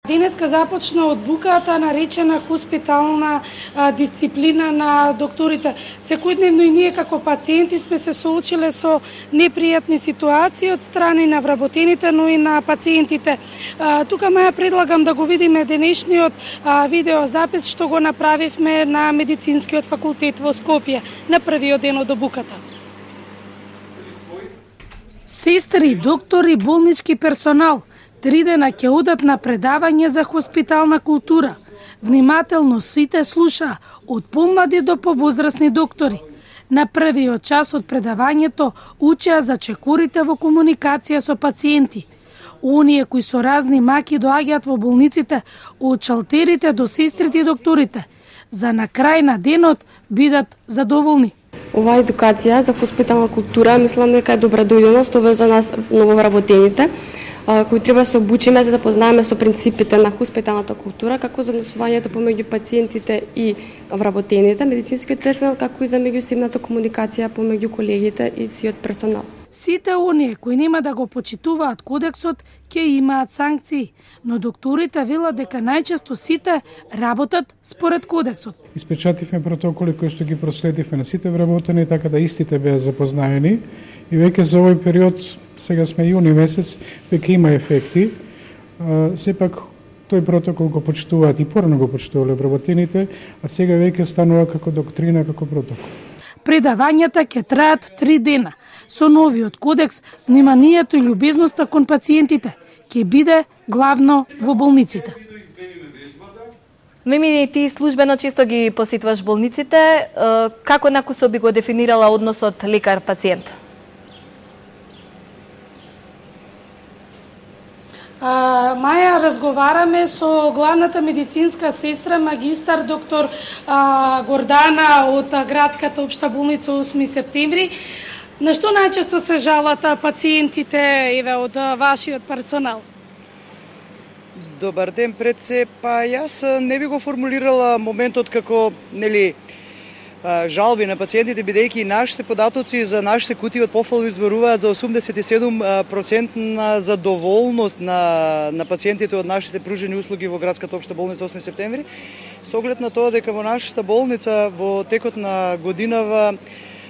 Денеска започна од буката наречена хоспитална дисциплина на докторите. Секојдневно и ние како пациенти сме се соочиле со непријатни ситуации од страни на вработените, но и на пациентите. Тука Маја предлагам да го видиме денешниот видеозапис што го направивме на Медицинскиот факултет во Скопје на првиот ден од обуката. Сестри, доктори, болнички персонал 3 дена ќе одат на предавање за хоспитална култура. Внимателно сите слуша, од помлади до повозрасни доктори. На првиот час од предавањето учеа за чекорите во комуникација со пациенти. Оние кои со разни маки доаѓаат во болниците, од шалтерите до сестрите и докторите, за на крај на денот бидат задоволни. Оваа едукација за хоспитална култура мислам дека е добра дојденост, ова за нас нововработените, кои треба да се обучиме за да запознаеме со принципите на хоспиталната култура, како за однесувањето помеѓу пациентите и вработените, медицинскиот персонал, како и за меѓусебната комуникација помеѓу колегите и сиот персонал. Сите оние кои нема да го почитуваат кодексот ќе имаат санкции, но докторите велат дека најчесто сите работат според кодексот. Испечативме протоколи кои што ги проследивме на сите вработени, така да истите беа запознаени и веќе за овој период, сега сме јуни месец, веќе има ефекти. Сепак тој протокол го почитуваат и порано го почитувале вработените, а сега веќе станува како доктрина, како протокол. Предавањата ќе траат 3 дена. Со новиот кодекс, вниманието и љубезноста кон пациентите ќе биде главно во болниците. Мими, ти службено често ги посетуваш болниците. Како накусо би го дефинирала односот лекар-пациент? Маја, разговараме со главната медицинска сестра, магистар доктор Гордана од градската општа болница 8 септември. На што најчесто се жалат пациентите од вашиот персонал? Добар ден пред се, јас не би го формулирала моментот како жалби на пациентите, бидејќи нашите податоци за нашите кутии од пофалби зборуваат за 87% на задоволност на пациентите од нашите пружени услуги во градската општа болница 8 септември, со оглед на тоа дека во нашата болница во текот на годинава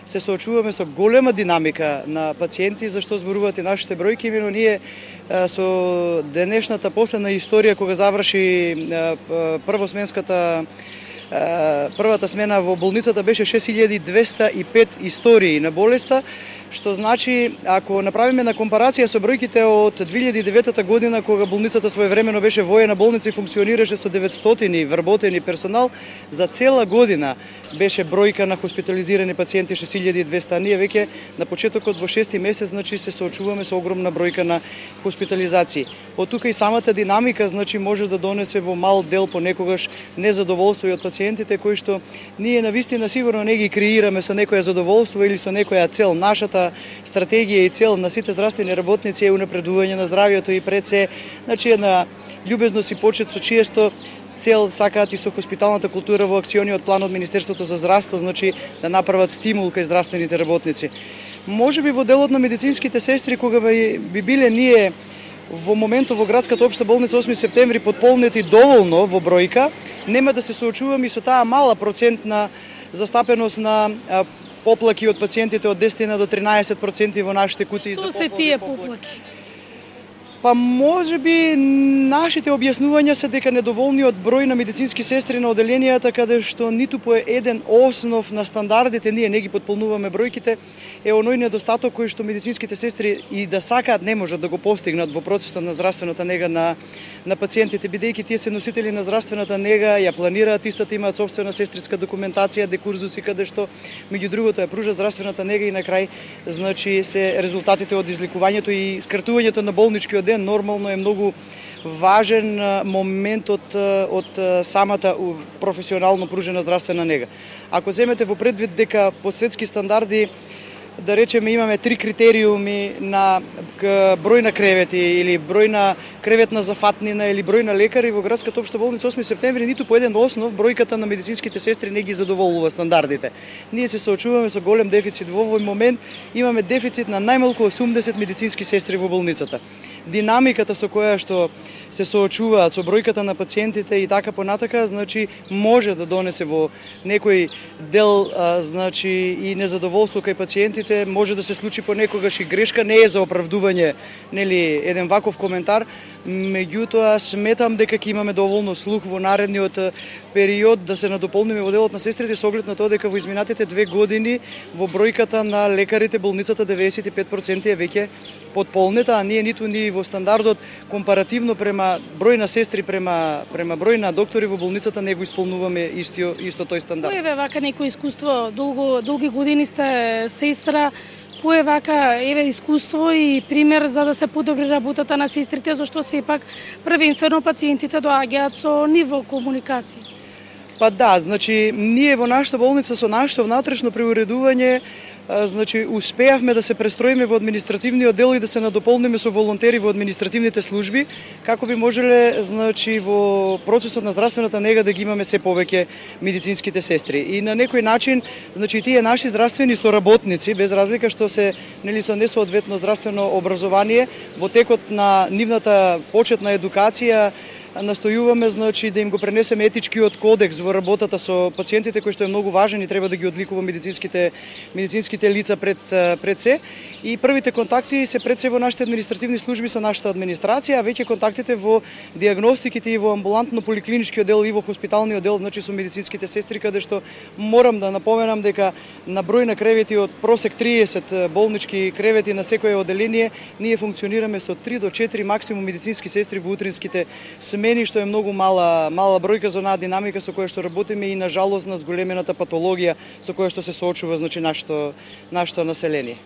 се соочуваме со голема динамика на пациенти, зашто зборуваат и нашите бројки, но ние со денешната последна историја кога заврши првата смена во болницата беше 6205 истории на болеста, што значи, ако направиме на компарација со бројките од 2009 година, кога болницата своевремено беше воена болница и функционираше со 900 вработени персонал, за цела година беше бројка на хоспитализирани пациенти 6200, а ние веќе на почетокот во 6 месец, значи се соочуваме со огромна бројка на хоспитализации. Од тука и самата динамика, значи, може да донесе во мал дел понекогаш незадоволство и од пациентите, кои што ние навистина сигурно не ги креираме со некоја задоволство или со некоја цел. Нашата стратегија и цел на сите здравствени работници е унапредување на здравјето и пред се, значи, една љубезност и почит со чиесто цел сакаат и со хоспиталната култура во акциониот план од Министерството за здравство, значи да направат стимул кај здравствените работници. Може би во делот на медицинските сестри, кога би биле ние во моментот во градската општа болница 8 септември подполнети доволно во бројка, нема да се соочуваме и со таа мала процентна застапеност на поплаки од пациентите од 10 до 13% во нашите кутии. Што се тие поплаки? Па може би нашите објаснувања се дека недоволниот број на медицински сестри на оделенијата, каде што ниту по еден основ на стандардите ние не ги потполнуваме бројките, е оној недостаток кој што медицинските сестри и да сакаат не можат да го постигнат во процесот на здравствената нега на пациентите, бидејќи тие се носители на здравствената нега, ја планираат истата, имаат собствена сестриска документација, декурзуси каде што меѓу другото ја пружа здравствената нега и на крај, значи, се резултатите од излекувањето и скратувањето на болничкиот ден нормално е многу важен момент од самата професионално пружена здравствена нега. Ако земете во предвид дека по светски стандарди, да речеме, имаме 3 критериуми на број на кревети или број на креветна зафатнина или број на лекари, во градската општа болница 8 септември ниту по еден основ бројката на медицинските сестри не ги задоволува стандардите. Ние се соочуваме со голем дефицит. Во овој момент имаме дефицит на најмалку 80 медицински сестри во болницата. динамиката со која што се соочуваат со бројката на пациентите и така понатака, значи може да донесе во некој дел значи и незадоволство кај пациентите, може да се случи понекогаш и грешка, не е за оправдување, нели, еден ваков коментар, меѓутоа сметам дека ќе имаме доволно слух во наредниот период да се надополниме во делот на сестрите со оглед на тоа дека во изминатите 2 години во бројката на лекарите болницата 95% е веќе потполнета, а ние ниту ни во стандардот компаративно према број на сестри према број на доктори во болницата не го исполнуваме исто тој стандард. Кој е вака некој искуство, долги години сте сестра, кој е вака искуство и пример за да се подобри работата на сестрите, зашто сепак првенствено пациентите доаѓаат со ниво комуникација? Па да, значи ние во нашата болница со нашето внатрешно преуредување значи успеавме да се престроиме во административниот дел и да се надополниме со волонтери во административните служби, како би можеле значи во процесот на здравствената нега да ги имаме се повеќе медицинските сестри. И на некој начин значи тие наши здравствени соработници без разлика што се нели со несоодветно здравствено образование во текот на нивната почетна едукација настојуваме значи да им го пренесеме етичкиот кодекс во работата со пациентите кој што е многу важен и треба да ги одликува медицинските лица пред се. И првите контакти се пред се во нашите административни служби со нашата администрација, а веќе контактите во диагностиките и во амбулантно поликлиничкиот дел и во хоспиталниот дел, значи со медицинските сестри, каде што морам да напоменам дека на број на кревети од просек 30 болнички кревети на секое оделение, ние функционираме со 3 до 4 максимум медицински сестри во утринските смени, што е многу мала бројка за онаа динамика со која што работиме и на жалост на зголемената патологија со која што се соочува значи нашето население.